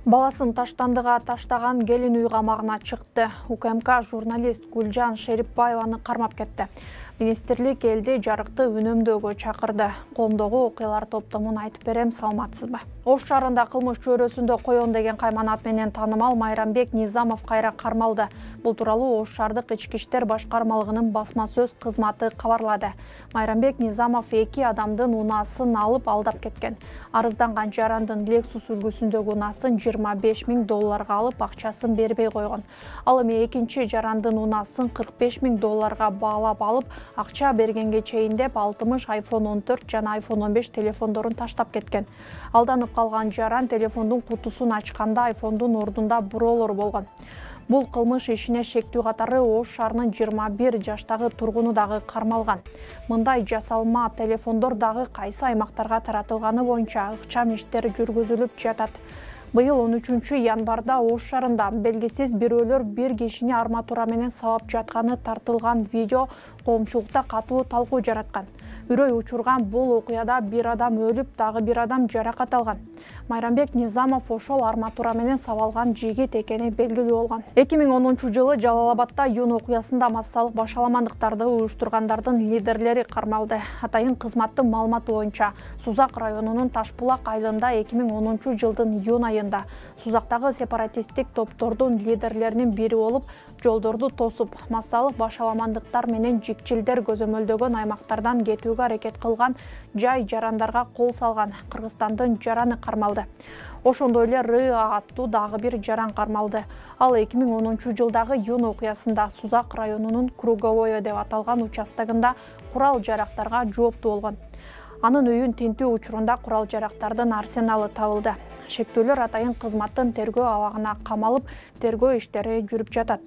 Баласын таштандыга таштаган келин үй камагына чыкты. УКМК журналист Гүлжан Шерипбаеваны кармап кетти. Министрлик элди жарыкты үнөмдөөгө чакырды. Коомдогу окуялар топтомун айтып берем, саламатсызбы? Ош шаарында кылмыш чөйрөсүндө коён деген кайманат менен таанымал Майрамбек Низамов кайра кармалды. Бул тууралуу Ош шаардык ички иштер башкармалыгынын басма сөз кызматы кабарлады. Майрамбек Низамов 2 адамдын унаасын алып алдап кеткен. Арызданган жарандын Lexus үлгүсүндөгү унаасын $25 000 алып акчасын бербей койгон. Ал эми экинчи жарандын унаасын $45 000 баалап алып, акча бергенге чейин деп 60 iPhone 14 жана iPhone 15 телефондорун таштап кеткен. Алданып калган жаран телефондун кутусун ачканда iPhone'дун ордунда буроолор болгон. Бул кылмыш ишине шектүү катары Ош шаарынын 21 жаштагы тургуну дагы кармалган. Мындай жасалма телефондор дагы кайсы аймактарга таратылганы боюнча ыкчам иштер жүргүзүлүп жатат. Быйыл 13 январда Ош шаарында белгисиз бирөөлөр бир кишини арматура менен сабап жатканы тартылган видео коомчулукта катуу талкуу жараткан. Үрөй учурган бул окуяда бир адам өлүп, дагы бир адам жаракат алган. Майрамбек Низамов ошол арматура менен сабалган жигит экени белгилүү болгон. 2010-жылы Жалал-Абадда юун окуясында массалык башаламандыктарды уюштургандардын лидерлери кармалды. Атайын кызматтын маалыматы боюнча, Сузак районунун Ташбулак айылында 2010-жылдын июнь айында Сузактагы сепаратисттик топтордун лидерлеринин бири болуп, жолдорду тосуп, массалык башаламандыктар менен жикчилдер көзөмөлдөгөн аймактардан кетүүгө аракет кылган жай жарандарга кол салган Кыргызстандын жараны кармалды. Ошондой эле РА аттуу дагы бир жаран кармалды. Ал 2010-жылдагы июнь окуясында Сузак районунун Круговое деп аталган участогунда курал жарактарга жооптуу болгон. Анын үйүн тинтүү учурунда курал жарактардын арсеналы табылды. Шектүүлөр атайын кызматтын тергөө абагына камалып, тергөө иштери жүрүп жатат.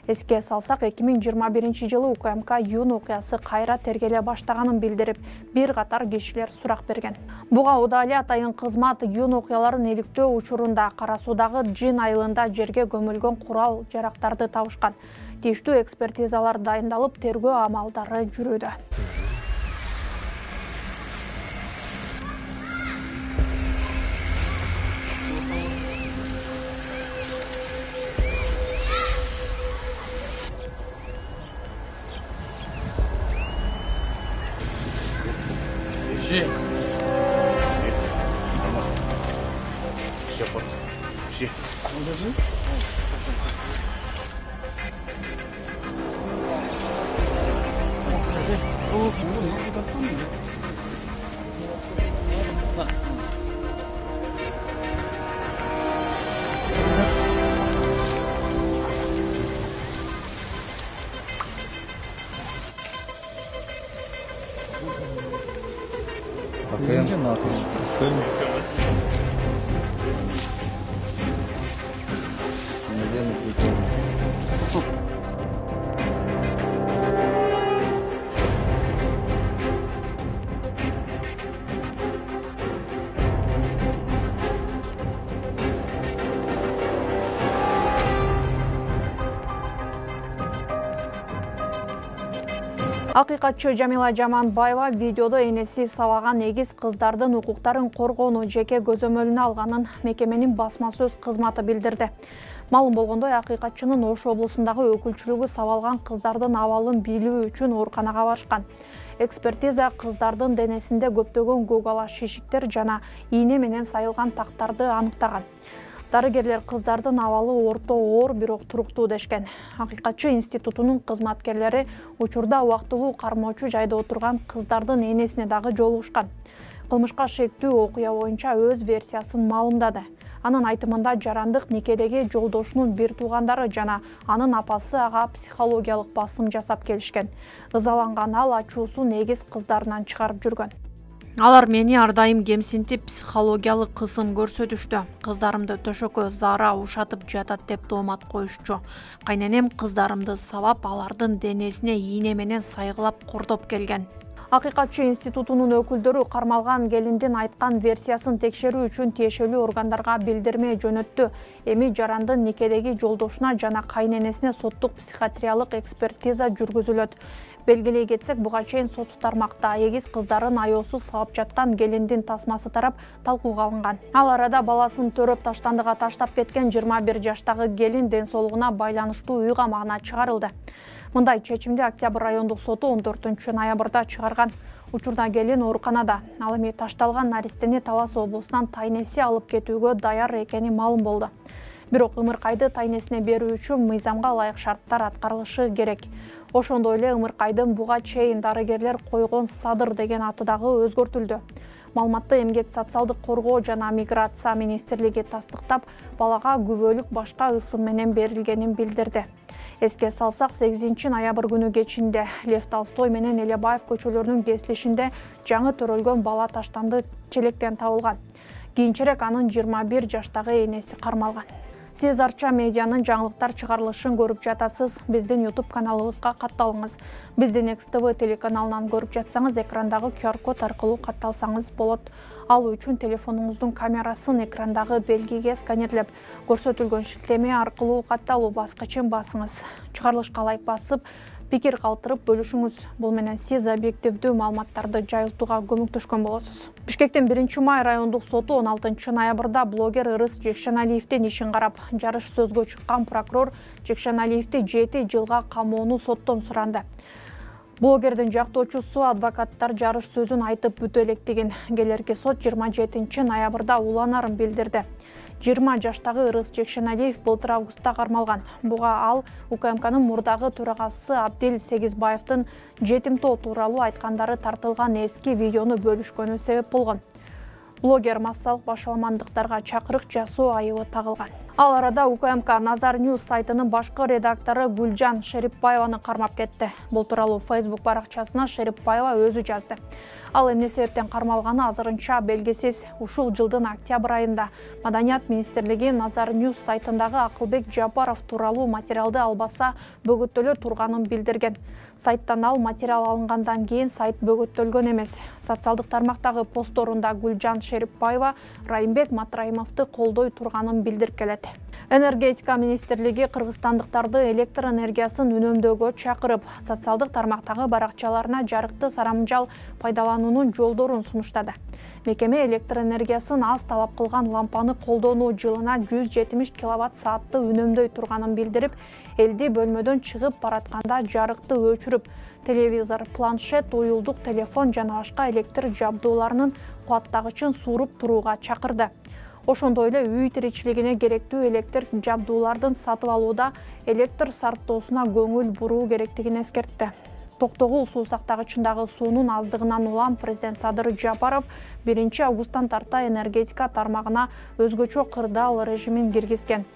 Эске салсак, 2021-жылы УКМК июнь окуясы кайра тергеле баштаганын билдирип, бир катар кишилер сурак берген. Буга удаа атайын кызмат июнь окуяларын иликтөө учурунда Кара Суудагы Жин айылында жерге көмүлгөн курал жарактарды табышкан. Тийиштүү экспертизалар дайындалып, тергөө амалдары жүрүүдө. Акыйкатчы Жамила Жаманбаева видеодо энеси сабаган эгиз кыздардын укуктарын коргоону жеке көзөмөлүнө алганын мекеменин басма сөз кызматы билдирди. Маалым болгондой, акыйкатчынын Ош облусундагы өкүлчүлүгү сабалган кыздардын абалын билүү үчүн ооруканага барышкан. Экспертиза кыздардын денесинде көптөгөн көк ала шишиктер жана ийне менен сайылган тактарды аныктаган. Дарыгерлер кыздардын абалы орто оор, бирок туруктуу дешкен. Акыйкатчы институтунун кызматкерлери учурда убактылуу кармоочу жайда отурган кыздардын энесине дагы жолугушкан. Кылмышка шектүү окуя боюнча өз версиясын маалымдады. Анын айтымында жарандык никедеги жолдошунун бир туугандары жана анын апасы ага психологиялык басым жасап келишкен. Ызаланган ал ачуусун эгиз кыздарынан чыгарып жүргөн. Алар мени ар дайым кемсинтип, психологиялык кысым көрсөтүштү. Кыздарымды төшөккө зара ушатып жатат деп тоомат коюшчу. Кайненем кыздарымды сабап, алардын денесине ийне менен сайгылап кордоп келген. Акыйкатчы институтунун өкүлдөрү кармалган келиндин айткан версиясын текшерүү үчүн тиешелүү органдарга билдирме жөнөттү. Эми жарандын никедеги жолдошуна жана кайненесине соттук психиатриялык экспертиза жүргүзүлөт. Белгилей кетсек, буга чейин сот тармакта эгиз кыздарын аяосуз сабап жаткан келиндин тасмасы тарап талкууга алынган. Ал арада баласын төрөп таштандыга таштап кеткен 21 жаштагы келин ден соолугуна байланыштуу үй камагына чыгарылды. Мындай чечимди Октябрь райондук соту 14 ноябрда чыгарган. Учурда келин ооруканада. Ал эми ташталган наристени Талас облусунан тайнеси алып кетүүгө даяр экени маалым болду. Бирок ымыркайды тайнесине берүү үчүн мыйзамга ылайык шарттар аткарылышы керек. Ошондой эле ымыркайдын буга чейин дарыгерлер койгон Садыр деген аты дагы өзгөртүлдү. Маалыматты Эмгек социалдык коргоо жана миграция министрлиги тастыктап, балага күбөлүк башка ысым менен берилгенин билдирди. Эске салсак, 8 ноябрь күнү кечинде Лев Толстой менен Элебаев көчөлөрүнүн кесилишинде жаңы төрөлгөн бала таштанды челектен табылган. Кийинчерээк анын 21 жаштагы энеси кармалган. Сиз Арча медианын жаңылыктар чыгарылышын көрүп жатасыз. Биздин YouTube каналыбызга катталыңыз. Биздин XTV телеканалынан көрүп жатсаңыз, экрандагы QR-код аркылуу катталсаңыз болот. Ал үчүн телефонуңуздун камерасын экрандагы белгиге сканерлеп, көрсөтүлгөн шилтеме аркылуу катталуу баскычын басыңыз. Чыгарылышка лайк басып, пикир калтырып бөлүшүңүз. Бул менен сиз объективдүү маалыматтарды жайылтууга көмөктөшкөн болосуз. Бишкектин 1-май райондук соту 16 ноябрда блогер Ырыс Жекшеналиевдин ишин карап, жарыш сөзгө чыккан прокурор Жекшеналиевди 7 жылга камоону соттон суранды. Блогердин жактоочусу адвокаттар жарыш сөзүн айтып бүтө электигин, келерки сот 27 ноябрда уланарын билдирди. 20 жаштагы Ырыс Жекшеналиев былтыр августта кармалган. Буга ал УКМКнын мурдагы төрагасы Абдил Сегизбаевдин жетимтоо тууралуу айткандары тартылган эски видеону бөлүшкөнү себеп болгон. Блогер массалык башаламандыктарга чакырык жасоо айыбы тагылган. Ал арада УКМК Назар Ньюс сайтынын башкы редактору Гүлжан Шерипбаеваны кармап кетти. Бул тууралуу Facebook баракчасына Шерипбаева өзү жазды. Ал эмне себептен кармалганы азырынча белгисиз. Ушул жылдын октябрь айында Маданият министрлиги Назар Ньюс сайтындагы Акылбек Жапаров тууралуу материалды албаса бөгөттөлө турганын билдирген. Сайттан ал материал алынгандан кийин сайт бөгөттөлгөн эмес. Социалдык тармактагы посторунда Гүлжан Шерипбаева Райымбек Матраимовду колдой турганын билдирип келет. Энергетика министрлиги кыргызстандыктарды электр энергиясын үнөмдөөгө чакырып, социалдык тармактагы баракчаларына жарыкты сарамжал пайдалануунун жолдорун сунуштады. Мекеме электр энергиясын аз талап кылган лампаны колдонуу жылына 170 киловатт-саатты үнөмдөй турганын билдирип, элди бөлмөдөн чыгып баратканда жарыкты өчүрүп, телевизор, планшет, уюлдук телефон жана башка электр жабдууларынын кубаттагычын сууруп турууга чакырды. Ошондой эле үй тиричилигине керектүү электр жабдуулардын сатып алууда электр сарптоосуна көңүл буруу керектигин эскертти. Токтогул суу сактагычындагы суунун аздыгынан улам президент Садыр Жапаров 1 августтан тарта энергетика тармагына өзгөчө кырдаал режимин киргизген.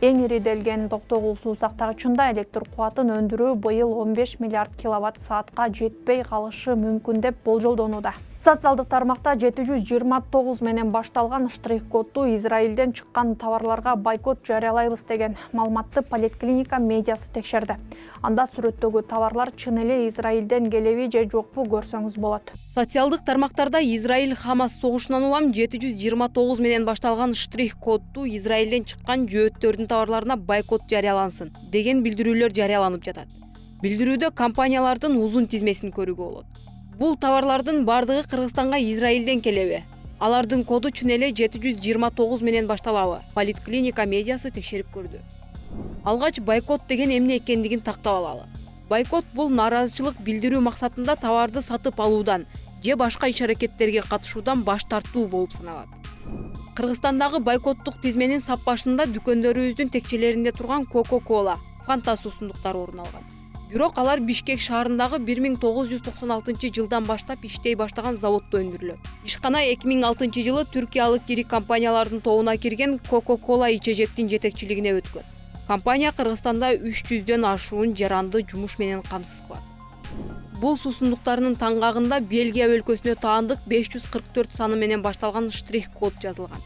Эң ириделген Токтогул суу сактагычында электр кубатын өндүрүү быйыл 15 миллиард киловатт-саатка жетпей калышы мүмкүн деп болжолдонууда. Социалдык тармакта 729 менен башталган штрих-кодду Израилден чыккан товарларга бойкот жарыялайбыз деген маалыматты Поликлиника медиасы текшерди. Анда сүрөттөгү товарлар чын эле Израилден келеби же жокпу көрсөңүз болот. Социалдык тармактарда Израиль-Хамас согушунан улам 729 менен башталган штрих-кодду Израилден чыккан жөөттөрдүн товарларына бойкот жарыялансын деген билдирүүлөр жарыяланып жатат. Билдирүүдө компаниялардын узун тизмесин көрүүгө болот. Бул товарлардын бардыгы Кыргызстанга Израилден келеби. Алардын коду чын эле 729 менен башталабы? Поликлиника медиасы текшерип көрдү. Алгач бойкот деген эмне экендигин тактап алалы. Бойкот бул нааразычылык билдирүү максатында товарды сатып алуудан же башка иш-аракеттерге катышуудан баш тартуу болуп саналат. Кыргызстандагы бойкоттук тизменин сап башында дүкөндөрүбүздүн текчелеринде турган Coca-Cola, Fanta суусундуктары орун алган. Бирок алар Бишкек шаарындагы 1996 жылдан баштап иштей баштаган заводдо өндүрүлөт. Ишкана 2006 жылы түркиялык ири компаниялардын тобуна кирген Coca-Cola ичежектин жетекчилигине өткөн. Компания Кыргызстанда 300дөн ашуун жаранды жумуш менен камсыз кылат. Бул суусундуктарынын таңгагында Бельгия өлкөсүнө таандык 544 саны менен башталган штрих-код жазылган.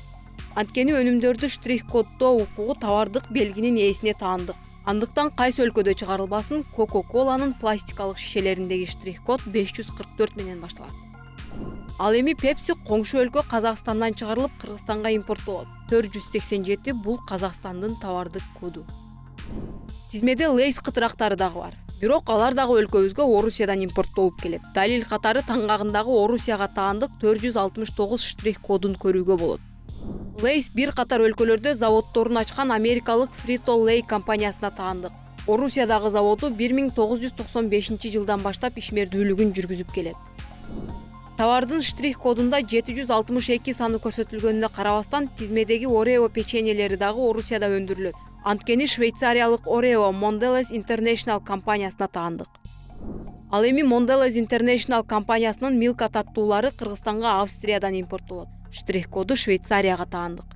Анткени өнүмдөрдү штрих-коддоо укугу товардык белгинин ээсине таандык. Андыктан кайсы өлкөдө чыгарылбасын, Coca-Cola'нын пластикалык шишелериндеги штрих-код 544 менен башталат. Ал эми Pepsi коңшу өлкө Казакстандан чыгарылып, Кыргызстанга импорттолот. 487 бул Казакстандын товардык коду. Тизмеде Lay's кытырактары дагы бар. Бирок алар дагы өлкөбүзгө Орусиядан импорттолуп келет. Далил катары таңгагындагы Орусияга таандык 469 штрих-кодун көрүүгө болот. Lay's бир катар өлкөлөрдө заводдорун ачкан америкалык Frito-Lay компаниясына таандык. Орусиядагы заводу 1995 жылдан баштап ишмердүүлүгүн жүргүзүп келет. Товардын штрих-кодунда 762 саны көрсөтүлгөнүнө карабастан, тизмедеги Oreo печеньелери дагы Орусияда өндүрүлөт. Анткени швейцариялык Oreo Mondelez International компаниясына таандык. Ал эми Mondelez International компаниясынын Milka таттуулары Кыргызстанга Австриядан импорттолот. Штрих-коду Швейцарияга таандык.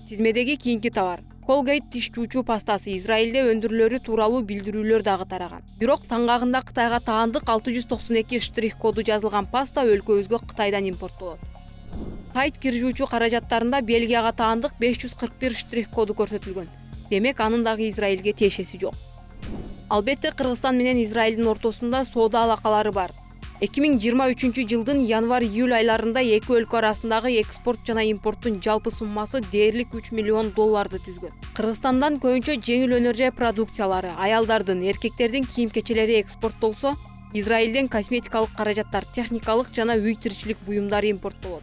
Тизмедеги кийинки товар Colgate тиш жуучу пастасы Израилде өндүрүлөрү тууралуу билдирүүлөр дагы тараган. Бирок таңгагында Кытайга таандык 692 штрих-коду жазылган паста өлкөбүзгө Кытайдан импорттолот. Тайт кир жуучу каражаттарында Бельгияга таандык 541 штрих-коду көрсөтүлгөн. Демек, анын дагы Израилге тиешеси жок. Албетте, Кыргызстан менен Израилдин ортосунда соода алакалары бар. 2023 жылдын январь-июль айларында эки өлкө арасындагы экспорт жана импорттун жалпы суммасы дээрлик $3 миллион түзгөн. Кыргызстандан көбүнчө жеңил өнөр жай продукциялары, аялдардын, эркектердин кийим-кечелери экспорттолсо, Израилден косметикалык каражаттар, техникалык жана үй тиричилик буюмдары импорттолот.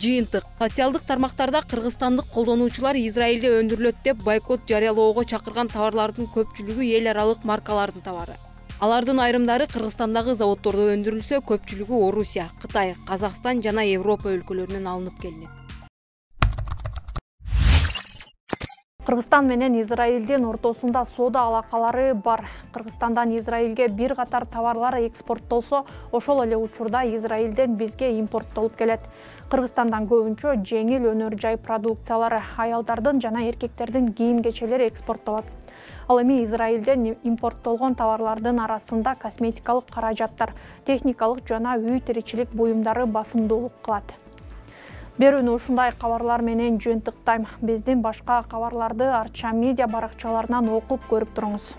Жыйынтык: социалдык тармактарда кыргызстандык колдонуучулар Израилде өндүрүлөт деп бойкот жарыялоого чакырган товарлардын көпчүлүгү эл аралык маркалардын товары. Алардын айрымдары Кыргызстандагы заводдордо өндүрүлсө, көпчүлүгү Орусия, Кытай, Казакстан жана Европа өлкөлөрүнөн алынып келинет. Кыргызстан менен Израилдин ортосунда соода алакалары бар. Кыргызстандан Израилге бир катар товарлар экспорттолсо, ошол эле учурда Израилден бизге импорттолуп келет. Кыргызстандан көбүнчө жеңил өнөр жай продукциялары, аялдардын жана эркектердин кийим-кечелери экспорттолот. Ал эми Израилден импорттолгон товарлардын арасында косметикалык каражаттар, техникалык жана үй тиричилик буюмдары басымдуулук кылат. Берүүнү ушундай кабарлар менен жыйынтыктайм. Биздин башка кабарларды Арча медиа баракчаларынан окуп көрүп туруңуз.